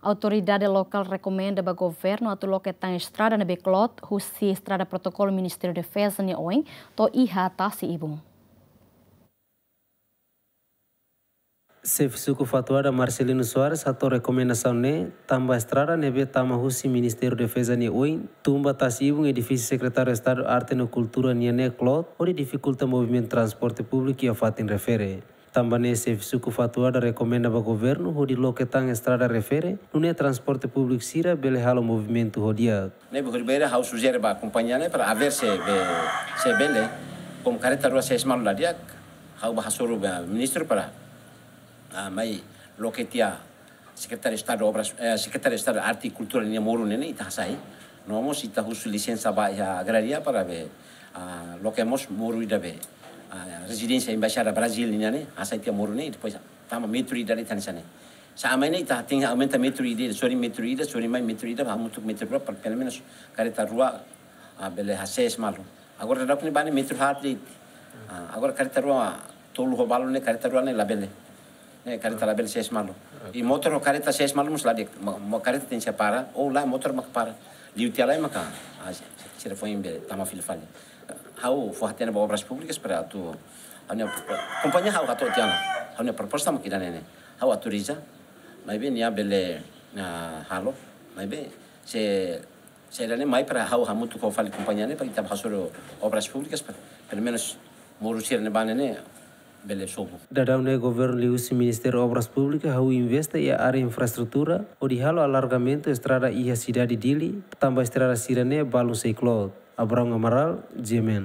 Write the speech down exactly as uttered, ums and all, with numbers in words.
Autoridade lokál rekomenda ba governu atu loke tan estrada ne'ebé kloot husi estrada protokolu Ministériu Defeza nia oin to'o iha tasi-ibun. Xefe Suku Fatuada Marcelino Soares hato'o rekomendasaun ne'e tanba estrada ne'ebé tama husi Ministériu Defeza nia oin tun ba tasi-ibun edifísiu Sekretáriu Estadu Arte no Kultura nian ne'e kloot, hodi difikulta movimentu transporte públiku iha fatin refere. Tanba ne'e Xefe Suku Fatuada rekomenda ba governu hodi loke tan estrada refere, nune'e transporte públiku sira bele halo movimentu ho di'ak. Ne'ebé horibainhira ha'u sujere ba kompañia ne'e para ver se be, se bele, komu kareta rua sees malu la di'ak, ha'u bá hasoru ba ministru para, ah, mai loke tiha Sekretáriu Estadu Obras, eh, Sekretáriu Estadu Arte e Kultura nia moru ne'e ne'e ita hasai. No mós ita husu lisensa ba iha Agraria para be, ah, loke mós moru ida be, ah, rezidénsia Embaixada Brazil nian ne'e, hasai tiha moru ne'e, depois tama metru ida de'it hanesan ne'e. Se mai ne'e ita tenke aumenta metru ida, sorin metru ida, sorin mai metru ida, hamutuk metru rua, para pelumenus kareta rua, ah, bele hasees malu. Agora daudaun ne'e ba ne'e metru haat de'it. Ah, agora kareta rua tolu ho balu ne'e kareta rua ne'e labele. Ne'e kareta labele sees malu. I motór ho kareta sees malu mós la di'ak, mo, mo kareta tenke para, ou la motór maka para. Liu tiha lai maka, ah, se, se, sira foin be tama fila fali. Ha'u fó-hatene ba Obras Públikas para atu, ha'u-nia propo-, kompañia ha'u hato'o tiha ona. Ha'u-nia proposta maka ida-ne'e ne'e. Ha'u autoriza, maibé nia bele, ah, halo, maibé se, se ida-ne'e mai para ha'u hamutuk ho fali kompañia ne'e para ita bá hasoru Obras Públikas para, pelumenus moru sira ne'ebá ne'e ne'e bele sobu. Daudaun ne'e governu liuhusi Ministériu Obras Públikas hahú investe iha área infraestrutura hodi halo alargamentu estrada iha sidade Dili, tanba estrada sira-ne'e balun sei kloot. Abrão Amaral, G M N.